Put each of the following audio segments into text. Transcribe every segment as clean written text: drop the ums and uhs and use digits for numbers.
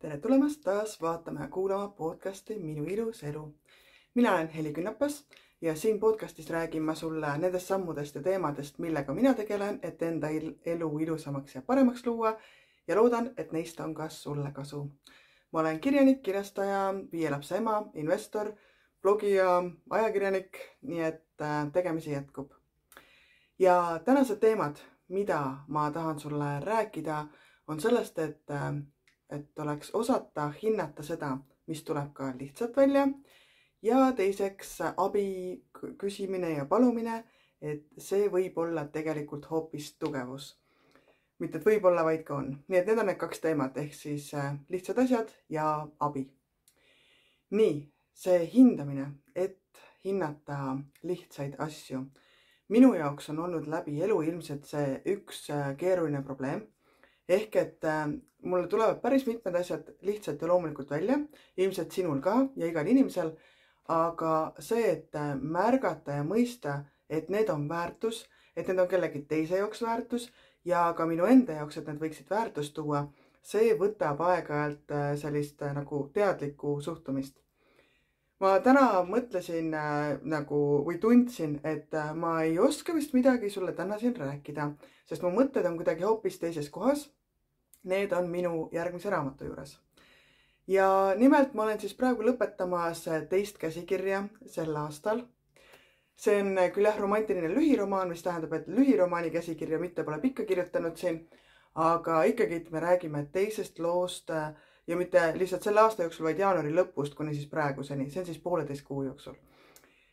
Tere tulemast taas vaatama ja kuulama podcasti Minu ilus elu. Mina olen Heli Künnapas ja siin podcastis räägin ma sulle nendest sammudest ja teemadest, millega mina tegelen, et enda elu ilusamaks ja paremaks luua ja loodan, et neist on ka sulle kasu. Ma olen kirjanik, kirjastaja, 5 lapse ema, investor, blogija, ajakirjanik, nii et tegemisi jätkub. Ja tänased teemad, mida ma tahan sulle rääkida, on sellest, et oleks osata hinnata seda, mis tuleb ka lihtsalt välja ja teiseks abi küsimine ja palumine, et see võib olla tegelikult hoopis tugevus. Mitte et võib olla, vaid ka on. Nii et need on need 2 teemat ehk siis lihtsad asjad ja abi. Nii, see hindamine, et hinnata lihtsaid asju. Minu jaoks on olnud läbi elu ilmselt see üks keeruline probleem. Ehk et mulle tulevad päris mitmed asjad lihtsalt ja loomulikult välja, ilmselt sinul ka ja igal inimesel, aga see, et märgata ja mõista, et need on väärtus, et need on kellegi teise jaoks väärtus ja ka minu enda jaoks, et need võiksid väärtust tuua, see võtab aeg-ajalt sellist nagu teadlikku suhtumist. Ma täna mõtlesin või tundsin, et ma ei oska vist midagi sulle täna siin rääkida, sest mu mõtted on kuidagi hoopis teises kohas. Need on minu järgmise raamatu juures. Ja nimelt ma olen siis praegu lõpetamas 2. käsikirja sel aastal. See on küll romantiline lühiromaan, mis tähendab, et lühiromaani käsikirja mitte pole pikka kirjutanud siin, aga ikkagi me räägime 2. loost ja mitte lihtsalt selle aasta jooksul, vaid jaanuari lõpust kuni siis praeguseni. See on siis 1,5 kuu jooksul.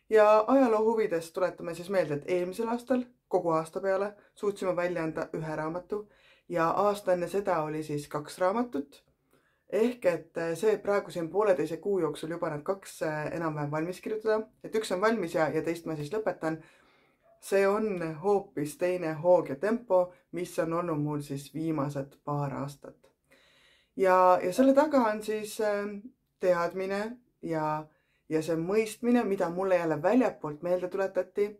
Ja ajaloo huvides tuletame siis meelde, et eelmisel aastal kogu aasta peale suutsime välja anda 1 raamatu ja aasta enne seda oli siis 2 raamatut. Ehk et see praegu siin 1,5 kuu jooksul juba need 2 enam-vähem valmis kirjutada, et 1 on valmis ja teist ma siis lõpetan. See on hoopis teine hoog ja tempo, mis on olnud mul siis viimased 2 aastat. Ja selle taga on siis teadmine ja see mõistmine, mida mulle jälle väljapoolt meelde tuletati,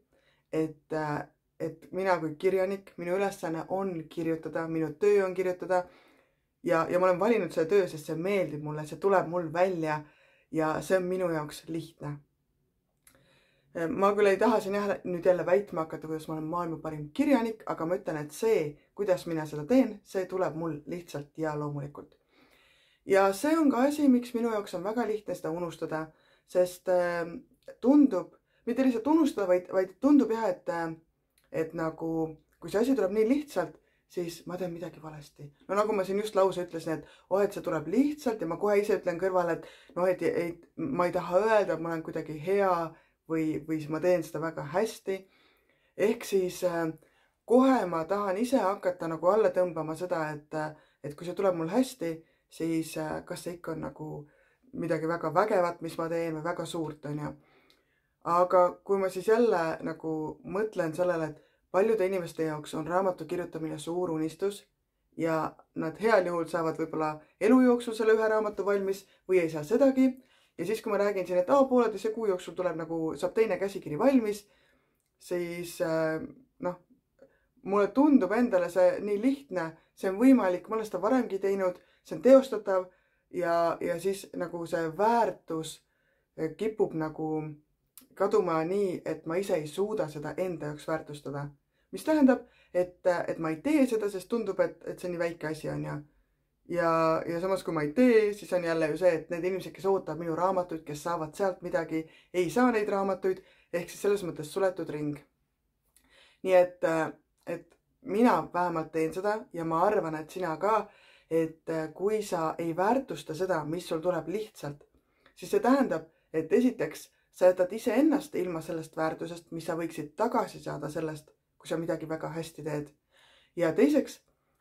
et mina kui kirjanik, minu ülesanne on kirjutada, minu töö on kirjutada ja ma olen valinud selle töö, sest see meeldib mulle, see tuleb mul välja ja see on minu jaoks lihtne. Ma küll ei taha siin nüüd jälle väitma hakata, kuidas ma olen maailma parim kirjanik, aga ma ütlen, et see, kuidas mina seda teen, see tuleb mul lihtsalt ja loomulikult. Ja see on ka asi, miks minu jaoks on väga lihtne seda unustada, sest tundub, mitte lihtsalt unustada, vaid tundub jah, et nagu, kui see asi tuleb nii lihtsalt, siis ma teen midagi valesti. No nagu ma siin just lause ütlesin, et see tuleb lihtsalt ja ma kohe ise ütlen kõrvale, et ma ei taha öelda, et ma olen kuidagi hea või ma teen seda väga hästi. Ehk siis kohe ma tahan ise hakata nagu alla tõmbama seda, et kui see tuleb mul hästi, siis kas see ikka on nagu midagi väga vägevat, mis ma teen või väga suurt on ju. Aga kui ma siis jälle nagu mõtlen sellele, et paljude inimeste jaoks on raamatu kirjutamine suur unistus ja nad heal juhul saavad võib-olla elu jooksul selle 1 raamatu valmis või ei saa sedagi. Ja siis, kui ma räägin siin, et 1,5 kuu jooksul saab 2 käsikiri valmis, siis mulle tundub endale see nii lihtne, see on võimalik, ma olen seda varemgi teinud, see on teostatav ja siis nagu see väärtus kipub nagu kaduma nii, et ma ise ei suuda seda enda jaoks väärtustada. Mis tähendab, et ma ei tee seda, sest tundub, et see on nii väike asi on ja samas kui ma ei tee, siis on jälle ju see, et need inimesed, kes ootavad minu raamatuid, kes saavad sealt midagi, ei saa neid raamatuid, ehk siis selles mõttes suletud ring. Nii et mina vähemalt teen seda ja ma arvan, et sina ka, et kui sa ei väärtusta seda, mis sul tuleb lihtsalt, siis see tähendab, et esiteks sa jätad ise ennast ilma sellest väärtusest, mis sa võiksid tagasi saada sellest, kui sa midagi väga hästi teed. Ja teiseks,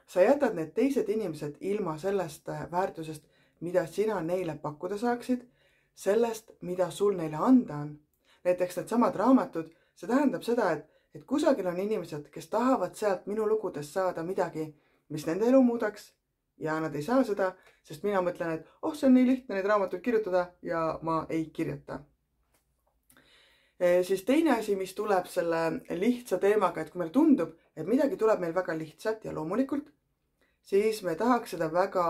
sa jätad need teised inimesed ilma sellest väärtusest, mida sina neile pakkuda saaksid, sellest, mida sul neile anda on. Näiteks need samad raamatud, see tähendab seda, et kusagil on inimesed, kes tahavad sealt minu lugudes saada midagi, mis nende elu muudaks ja nad ei saa seda, sest mina mõtlen, et see on nii lihtne neid raamatuid kirjutada ja ma ei kirjuta. Siis teine asi, mis tuleb selle lihtsa teemaga, et kui meil tundub, et midagi tuleb meil väga lihtsalt ja loomulikult, siis me tahaks seda väga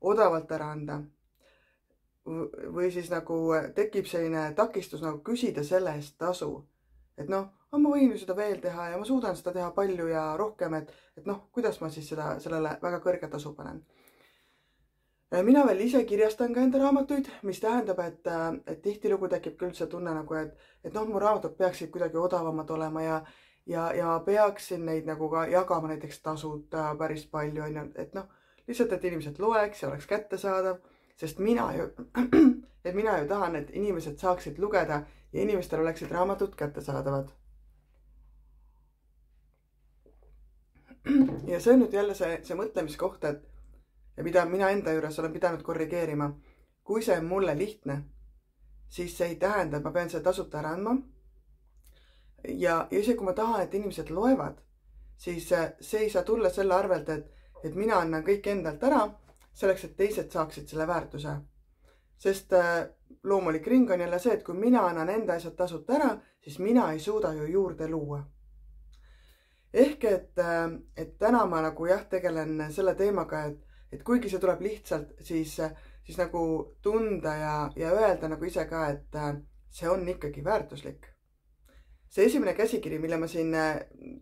odavalt ära anda. Või siis nagu tekib selline takistus nagu küsida selle eest tasu. Et noh, ma võin ju seda veel teha ja ma suudan seda teha palju ja rohkem, et noh, kuidas ma siis sellele väga kõrge tasu panen. Mina veel ise kirjastan ka enda raamatuid, mis tähendab, et tihtilugu tekib küll see tunne nagu, et noh, mu raamatud peaksid kuidagi odavamad olema ja peaksin neid nagu ka jagama näiteks tasuta päris palju, on ju, et noh, lihtsalt, et inimesed loeks ja oleks kättesaadav, sest mina ju tahan, et inimesed saaksid lugeda ja inimestel oleksid raamatud kättesaadavad. Ja see on nüüd jälle see mõtlemiskoht, ja mida mina enda juures olen pidanud korrigeerima. Kui see on mulle lihtne, siis see ei tähenda, et ma pean selle tasuta ära andma. Ja isegi kui ma tahan, et inimesed loevad, siis see ei saa tulla selle arvelt, et mina annan kõik endalt ära, selleks, et teised saaksid selle väärtuse. Sest loomulik ring on jälle see, et kui mina annan enda asjad tasuta ära, siis mina ei suuda ju juurde luua. Ehk et täna ma nagu tegelen selle teemaga, et kuigi see tuleb lihtsalt, siis nagu tunda ja öelda nagu ise ka, et see on ikkagi väärtuslik. See esimene käsikiri, mille ma siin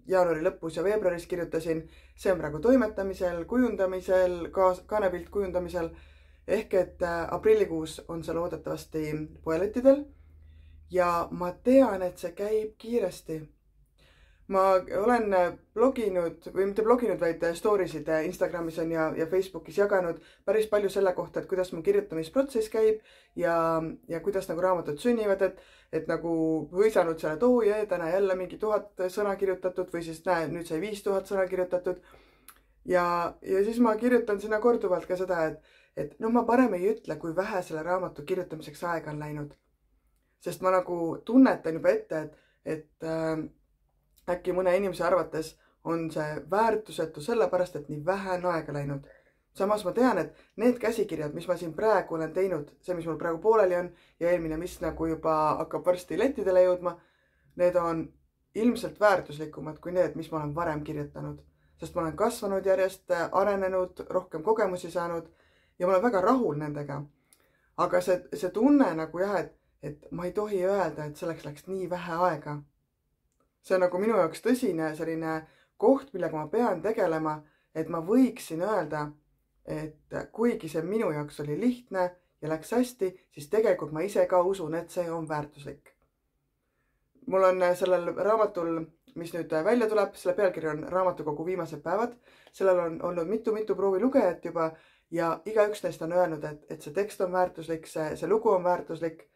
jaanuari lõpus ja veebruaris kirjutasin, see on praegu toimetamisel, kujundamisel, kaanepilt kujundamisel. Ehk et aprillikuus on see loodetavasti poelettidel ja ma tean, et see käib kiiresti. Ma olen bloginud, või mitte bloginud, vaid stories'id Instagramis on ja Facebookis jaganud päris palju selle kohta, et kuidas mu kirjutamisprotsess käib ja kuidas nagu raamatud sünnivad, et nagu hõisanud selle, et täna jälle mingi 1000 sõna kirjutatud või siis näe, nüüd sai 5000 sõna kirjutatud. Ja siis ma kirjutan sinna korduvalt ka seda, et noh, ma parem ei ütle, kui vähe selle raamatu kirjutamiseks aega on läinud. Sest ma nagu tunnetan juba ette, et äkki mõne inimese arvates on see väärtusetu sellepärast, et nii vähe on aega läinud. Samas ma tean, et need käsikirjad, mis ma siin praegu olen teinud, see, mis mul praegu pooleli on ja eelmine, mis nagu juba hakkab varsti lettidele jõudma, need on ilmselt väärtuslikumad kui need, mis ma olen varem kirjutanud. Sest ma olen kasvanud järjest, arenenud, rohkem kogemusi saanud ja ma olen väga rahul nendega. Aga see tunne nagu et ma ei tohi öelda, et selleks läks nii vähe aega. See on nagu minu jaoks tõsine selline koht, millega ma pean tegelema, et ma võiksin öelda, et kuigi see minu jaoks oli lihtne ja läks hästi, siis tegelikult ma ise ka usun, et see on väärtuslik. Mul on sellel raamatul, mis nüüd välja tuleb, selle pealkiri on Raamatukogu viimased päevad. Sellel on olnud mitu proovilugejat juba ja igaüks neist on öelnud, et see tekst on väärtuslik, see lugu on väärtuslik.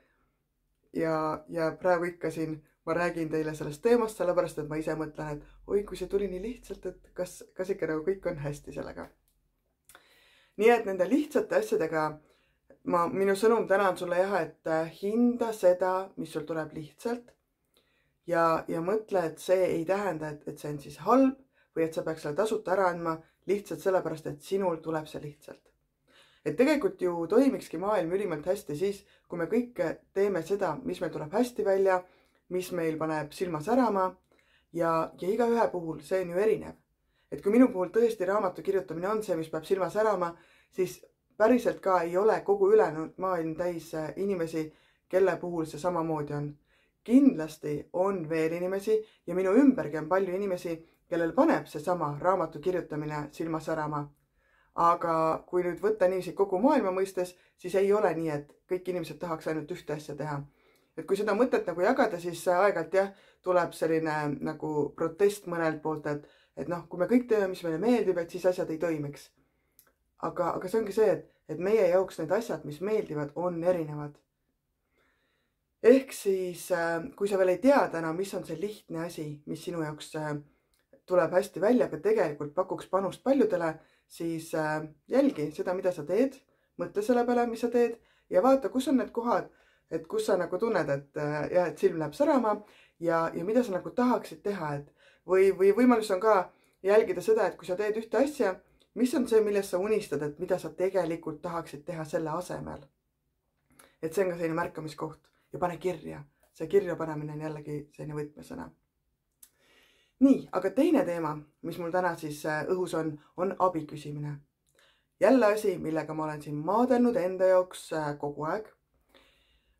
Ja praegu ikka siin ma räägin teile sellest teemast, sellepärast, et ma ise mõtlen, et oi, kui see tuli nii lihtsalt, et kas ikka nagu kõik on hästi sellega. Nii et nende lihtsate asjadega minu sõnum täna on sulle et hinda seda, mis sul tuleb lihtsalt ja mõtle, et see ei tähenda, et see on siis halb või et sa peaks selle tasuta ära andma lihtsalt sellepärast, et sinul tuleb see lihtsalt. Et tegelikult ju toimikski maailm ülimalt hästi siis, kui me kõik teeme seda, mis meil tuleb hästi välja, mis meil paneb silma särama ja igaühe puhul see on ju erinev. Et kui minu puhul tõesti raamatu kirjutamine on see, mis peab silma särama, siis päriselt ka ei ole kogu ülejäänud maailm täis inimesi, kelle puhul see samamoodi on. Kindlasti on veel inimesi ja minu ümbergi on palju inimesi, kellel paneb see sama raamatu kirjutamine silma särama. Aga kui nüüd võtta niiviisi kogu maailma mõistes, siis ei ole nii, et kõik inimesed tahaks ainult ühte asja teha. Et kui seda mõtet nagu jagada, siis aegalt tuleb selline nagu protest mõnelt poolt, et noh, kui me kõik teeme, mis meile meeldib, et siis asjad ei toimiks. Aga see ongi see, et meie jaoks need asjad, mis meeldivad, on erinevad. Ehk siis, kui sa veel ei tea täna, mis on see lihtne asi, mis sinu jaoks tuleb hästi välja, aga tegelikult pakuks panust paljudele, siis jälgi seda, mida sa teed, mõtle selle peale, mis sa teed ja vaata, kus on need kohad, et kus sa nagu tunned, et silm läheb särama ja mida sa nagu tahaksid teha. Või võimalus on ka jälgida seda, et kui sa teed ühte asja, mis on see, millest sa unistad, et mida sa tegelikult tahaksid teha selle asemel. Et see on ka selline märkamiskoht ja pane kirja. See kirja panemine on jällegi selline võtmesõna. Nii, aga teine teema, mis mul täna siis õhus on abi küsimine. jälle asi, millega ma olen siin maadelnud enda jaoks kogu aeg.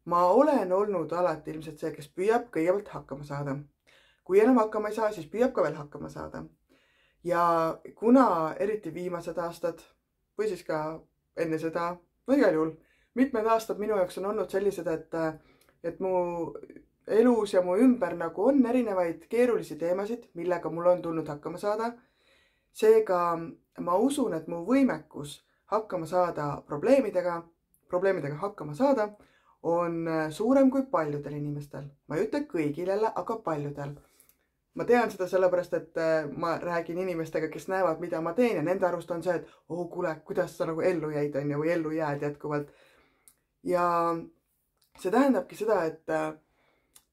Ma olen olnud alati ilmselt see, kes püüab kõigepealt hakkama saada. Kui enam hakkama ei saa, siis püüab ka veel hakkama saada. Ja kuna eriti viimased aastad või siis ka enne seda, no igal juhul, mitmed aastad minu jaoks on olnud sellised, et mu elus ja mu ümber nagu on erinevaid keerulisi teemasid, millega mul on tulnud hakkama saada. Seega ma usun, et mu võimekus hakkama saada probleemidega hakkama saada, on suurem kui paljudel inimestel. Ma ei ütle kõigil jälle, aga paljudel. Ma tean seda sellepärast, et ma räägin inimestega, kes näevad, mida ma teen ja nende arust on see, et kuule, kuidas sa nagu ellu jäid on ja või ellu jääd jätkuvalt. Ja see tähendabki seda,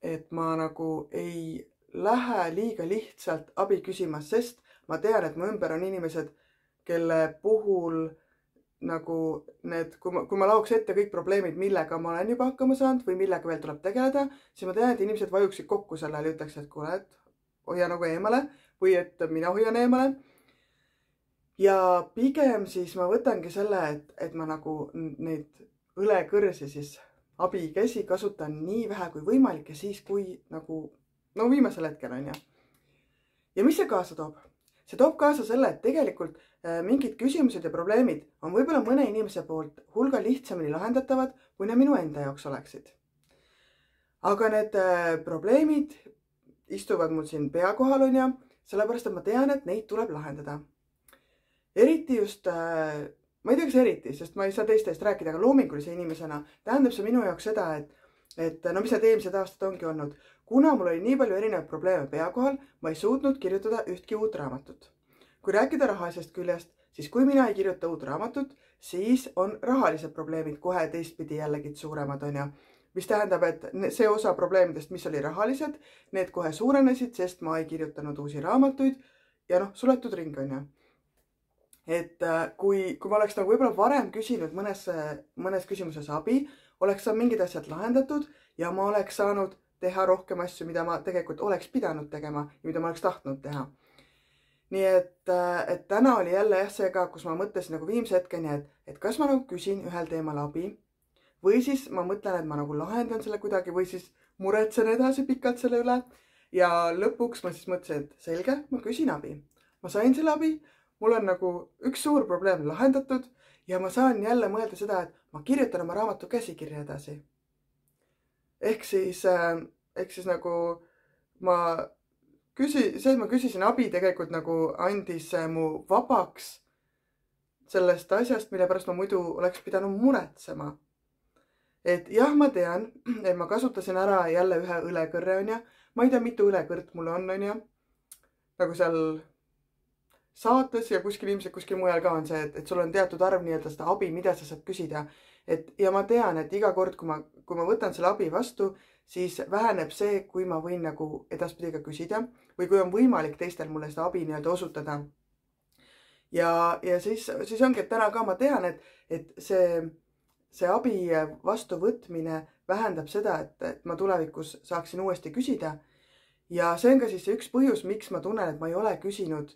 et ma nagu ei lähe liiga lihtsalt abi küsimas, sest ma tean, et mu ümber on inimesed, kelle puhul nagu need, kui ma laoks ette kõik probleemid, millega ma olen juba hakkama saanud või millega veel tuleb tegeleda, siis ma tean, et inimesed vajuksid kokku sellele ja ütleks, et kuule, et hoia nagu eemale või et mina hoian eemale. Ja pigem siis ma võtangi selle, et ma nagu neid õlekõrsi siis abikäsi kasutan nii vähe kui võimalik ja siis kui nagu, no viimasel hetkel on ja. Ja mis see kaasa toob? See toob kaasa selle, et tegelikult mingid küsimused ja probleemid on võib-olla mõne inimese poolt hulga lihtsamini lahendatavad, kui need minu enda jaoks oleksid. Aga need probleemid istuvad mul siin pea kohal on ja, sellepärast, et ma tean, et neid tuleb lahendada. Eriti just, ma ei tea, kas eriti, sest ma ei saa teiste eest rääkida, aga loomingulise inimesena tähendab see minu jaoks seda, et no mis need eelmised aastad ongi olnud. Kuna mul oli nii palju erinevaid probleeme pea kohal, ma ei suutnud kirjutada ühtki uut raamatut. Kui rääkida rahalisest küljest, siis kui mina ei kirjuta uut raamatut, siis on rahalised probleemid kohe teistpidi jällegi suuremad on ja. Mis tähendab, et see osa probleemidest, mis oli rahalised, need kohe suurenesid, sest ma ei kirjutanud uusi raamatuid ja suletud ring on ja. Et kui ma oleks nagu võib-olla varem küsinud mõnes küsimuses abi, oleks saanud mingid asjad lahendatud ja ma oleks saanud teha rohkem asju, mida ma tegelikult oleks pidanud tegema ja mida ma oleks tahtnud teha. Nii et täna oli jälle see ka, kus ma mõtlesin nagu viimse hetkeni, et kas ma nagu küsin ühel teemal abi või siis ma mõtlen, et ma nagu lahendan selle kuidagi või siis muretsen edasi pikalt selle üle ja lõpuks ma siis mõtlesin, et selge, ma küsin abi. Ma sain selle abi, mul on nagu üks suur probleem lahendatud ja ma saan jälle mõelda seda, et ma kirjutan oma raamatu käsikirja edasi. Ehk siis nagu ma küsisin abi tegelikult nagu andis mu vabaks sellest asjast, mille pärast ma muidu oleks pidanud muretsema. Et jah, ma tean, et ma kasutasin ära jälle ühe õlekõrre on ja, ma ei tea, mitu õlekõrt mul on ja, nagu seal saates ja ilmselt kuskil mujal ka on see, et sul on teatud arv nii-öelda seda abi, mida sa saad küsida. Ja ma tean, et iga kord, kui ma võtan selle abi vastu, siis väheneb see, kui ma võin nagu edaspidi ka küsida või kui on võimalik teistel mulle seda abi nii-öelda osutada. Ja siis ongi, et täna ka ma tean, et see abi vastuvõtmine vähendab seda, et ma tulevikus saaksin uuesti küsida. Ja see on ka siis üks põhjus, miks ma tunnen, et ma ei ole küsinud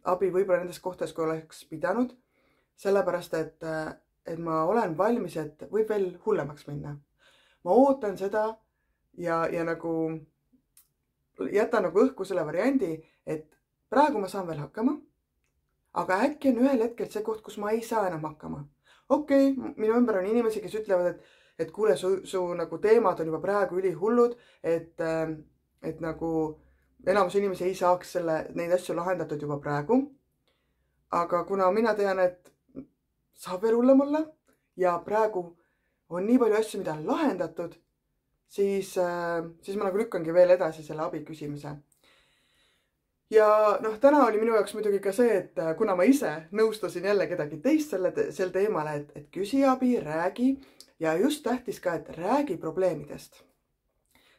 abi võib-olla nendes kohtades, kui oleks pidanud. Sellepärast, et ma olen valmis, et võib veel hullemaks minna. Ma ootan seda ja nagu jätan nagu õhku selle variandi, et praegu ma saan veel hakkama, aga äkki on ühel hetkel see koht, kus ma ei saa enam hakkama. Okei, minu ümber on inimesi, kes ütlevad, et kuule, su nagu teemad on juba praegu ülihullud, et nagu enamus inimesi ei saaks neid asju lahendatud juba praegu. Aga kuna mina tean, et saab veel hullem olla ja praegu on nii palju asju, mida on lahendatud, siis ma nagu lükkangi veel edasi selle abi küsimise. Ja täna oli minu jaoks muidugi ka see, et kuna ma ise nõustasin jälle kedagi teist sel teemale, et küsi abi, räägi ja just tähtis ka, et räägi probleemidest.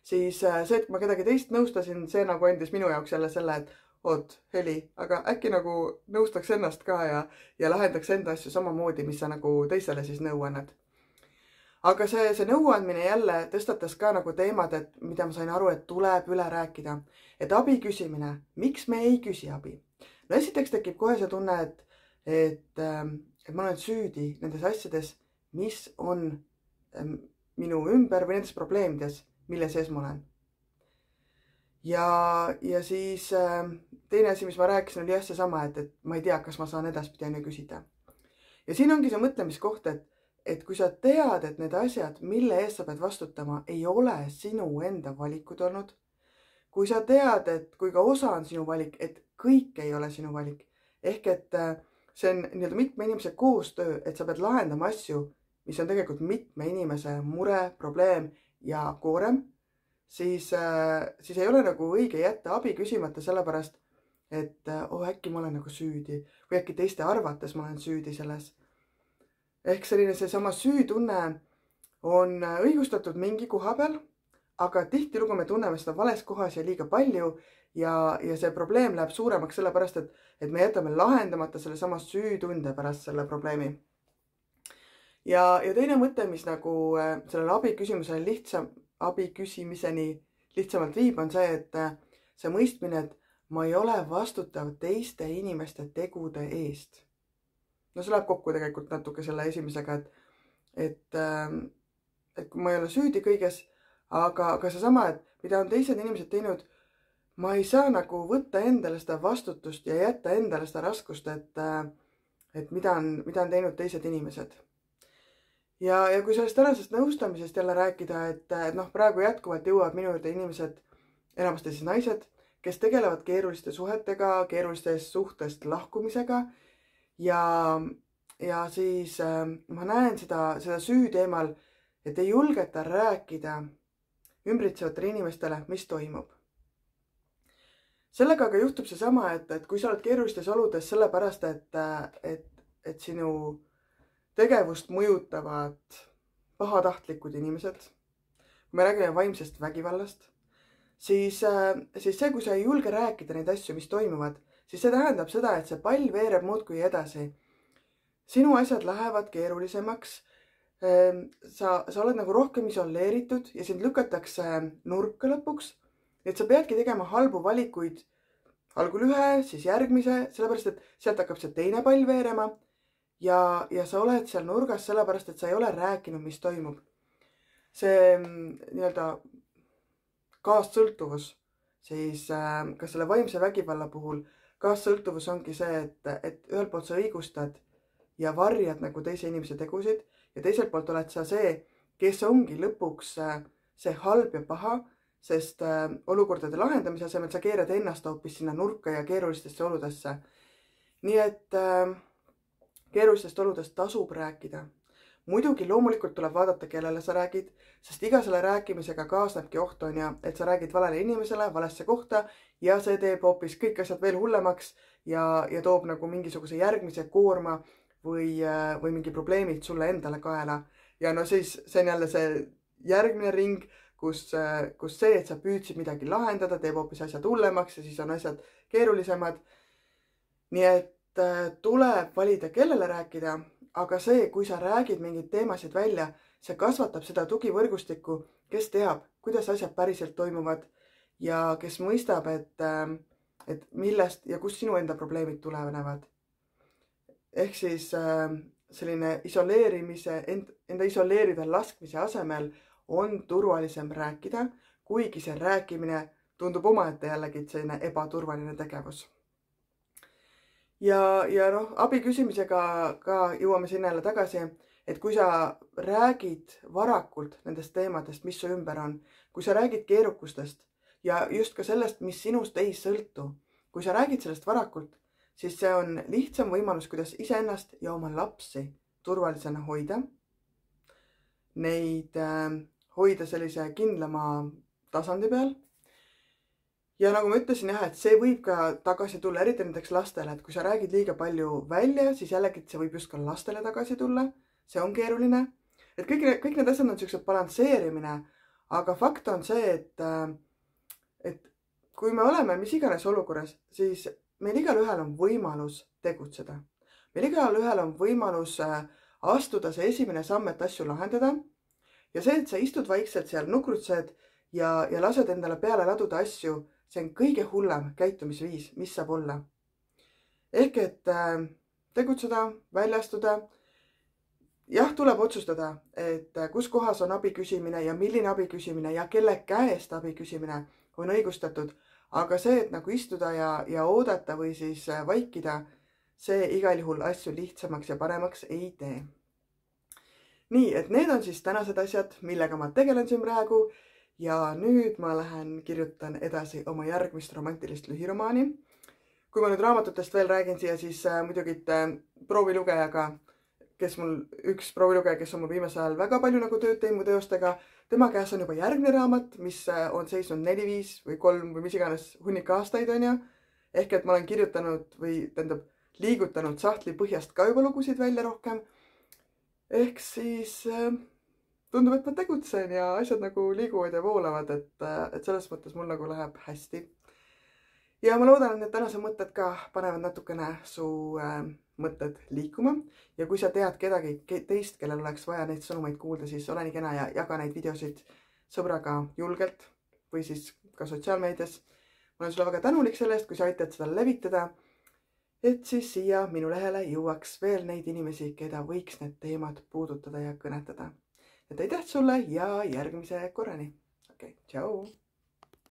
Siis see, et ma kedagi teist nõustasin, see nagu andis minu jaoks jälle selle, et oot, Heli, aga äkki nagu nõustaks ennast ka ja lahendaks enda asju samamoodi, mis sa nagu teisele siis nõu annad. Aga see nõuandmine jälle tõstatas ka nagu teemad, mida ma sain aru, et tuleb üle rääkida. Et abi küsimine, miks me ei küsi abi? No esiteks tekib kohe see tunne, ma olen süüdi nendes asjades, mis on minu ümber või nendes probleemides, mille sees ma olen. Ja siis teine asi, mis ma rääkisin, oli jah seesama, et ma ei tea, kas ma saan edaspidi enne küsida. Ja siin ongi see mõtlemiskoht, et kui sa tead, et need asjad, mille eest sa pead vastutama, ei ole sinu enda valikud olnud. Kui sa tead, et kui ka osa on sinu valik, et kõik ei ole sinu valik. Ehk et see on nii-öelda mitme inimese koostöö, et sa pead lahendama asju, mis on tegelikult mitme inimese mure, probleem ja koorem, siis ei ole nagu õige jätta abi küsimata sellepärast, et äkki ma olen nagu süüdi või äkki teiste arvates ma olen süüdi selles. Ehk selline seesama süütunne on õigustatud mingi koha peal, aga tihtilugu me tunneme seda vales kohas ja liiga palju ja see probleem läheb suuremaks sellepärast, et me jätame lahendamata selle sama süütunde pärast selle probleemi. Ja teine mõte, mis nagu sellele abi küsimiseni lihtsamalt viib, on see, et see mõistmine, et ma ei ole vastutav teiste inimeste tegude eest. No see läheb kokku tegelikult natuke selle esimesega, et kui ma ei ole süüdi kõiges, aga seesama, et mida on teised inimesed teinud, ma ei saa nagu võtta endale seda vastutust ja jätta endale seda raskust, et mida on teinud teised inimesed. Ja kui sellest tänasest nõustamisest jälle rääkida, et praegu jätkuvalt jõuavad minu juurde inimesed, enamasti siis naised, kes tegelevad keeruliste suhetega, keerulistest suhtest lahkumisega ja siis ma näen seda süü teemal, et ei julgeta rääkida ümbritsevatele inimestele, mis toimub. Sellega aga juhtub seesama, et kui sa oled keerulistes oludes sellepärast, et sinu tegevust mõjutavad pahatahtlikud inimesed, kui me räägime vaimsest vägivallast, siis see, kui sa ei julge rääkida neid asju, mis toimuvad, siis see tähendab seda, et see pall veereb muudkui edasi. Sinu asjad lähevad keerulisemaks, sa oled nagu rohkem isoleeritud ja sind lükatakse nurka lõpuks, et sa peadki tegema halbu valikuid algul ühe, siis järgmise, sellepärast, et sealt hakkab see teine pall veerema ja sa oled seal nurgas sellepärast, et sa ei ole rääkinud, mis toimub. See nii-öelda kaassõltuvus, siis ka selle vaimse vägivalla puhul kaassõltuvus ongi see, et ühelt poolt sa õigustad ja varjad nagu teise inimese tegusid ja teiselt poolt oled sa see, kes ongi lõpuks see halb ja paha, sest olukordade lahendamise asemel sa keerad ennast hoopis sinna nurka ja keerulistesse oludesse. Nii et keerulistest oludest tasub rääkida. Muidugi loomulikult tuleb vaadata, kellele sa räägid, sest iga selle rääkimisega kaasnebki oht on ja, et sa räägid valele inimesele, valesse kohta ja see teeb hoopis kõik asjad veel hullemaks ja toob nagu mingisuguse järgmise koorma või mingi probleemid sulle endale kaela. Ja no siis see on jälle see järgmine ring, kus see, et sa püüdsid midagi lahendada, teeb hoopis asjad hullemaks ja siis on asjad keerulisemad. Nii et tuleb valida, kellele rääkida, aga see, kui sa räägid mingeid teemasid välja, see kasvatab seda tugivõrgustikku, kes teab, kuidas asjad päriselt toimuvad ja kes mõistab, et millest ja kust sinu enda probleemid tulevad. Ehk siis selline enda isoleerida laskmise asemel on turvalisem rääkida, kuigi see rääkimine tundub omaette jällegi selline ebaturvaline tegevus. Ja abi küsimisega ka jõuame sinna jälle tagasi, et kui sa räägid varakult nendest teemadest, mis su ümber on, kui sa räägid keerukustest ja just ka sellest, mis sinust ei sõltu, kui sa räägid sellest varakult, siis see on lihtsam võimalus, kuidas iseennast ja oma lapsi turvalisena hoida. Neid hoida sellise kindlama tasandi peal. Ja nagu ma ütlesin jah, et see võib ka tagasi tulla, eriti näiteks lastele, et kui sa räägid liiga palju välja, siis jällegi see võib just ka lastele tagasi tulla. See on keeruline. Et kõik need asjad on sellised balansseerimine, aga fakt on see, et kui me oleme mis iganes olukorras, siis meil igal ühel on võimalus tegutseda. Meil igal ühel on võimalus astuda see esimene samm, et asju lahendada. Ja see, et sa istud vaikselt seal, nukrutsed ja lased endale peale laduda asju, see on kõige hullem käitumisviis, mis saab olla. Ehk et tegutseda, väljastuda. Jah, tuleb otsustada, et kus kohas on abi küsimine ja milline abi küsimine ja kelle käest abi küsimine on õigustatud. Aga see, et nagu istuda ja oodata või siis vaikida, see igal juhul asju lihtsamaks ja paremaks ei tee. Nii, et need on siis tänased asjad, millega ma tegelen siin praegu. Ja nüüd ma lähen kirjutan edasi oma järgmist romantilist lühiromaani. Kui ma nüüd raamatutest veel räägin siia, siis muidugi proovilugejaga, üks proovilugeja, kes on mul viimasel ajal väga palju nagu tööd teinud mu teostega, tema käes on juba järgmine raamat, mis on seisnud 4, 5 või 3 või mis iganes hunnik aastaid on ja. Ehk et ma olen kirjutanud või liigutanud sahtli põhjast ka juba lugusid välja rohkem. Ehk siis tundub, et ma tegutsen ja asjad nagu liiguvad ja voolavad, et selles mõttes mul nagu läheb hästi. Ja ma loodan, et need tänased mõtted ka panevad natukene su mõtted liikuma. Ja kui sa tead kedagi teist, kellel oleks vaja neid sõnumeid kuulda, siis ole nii kena ja jaga neid videosid sõbraga julgelt või siis ka sotsiaalmeedias. Ma olen sulle väga tänulik selle eest, kui sa aitad seda levitada, et siis siia minu lehele jõuaks veel neid inimesi, keda võiks need teemad puudutada ja kõnetada. Et aitäh sulle ja järgmise korrani. Okei, tšau!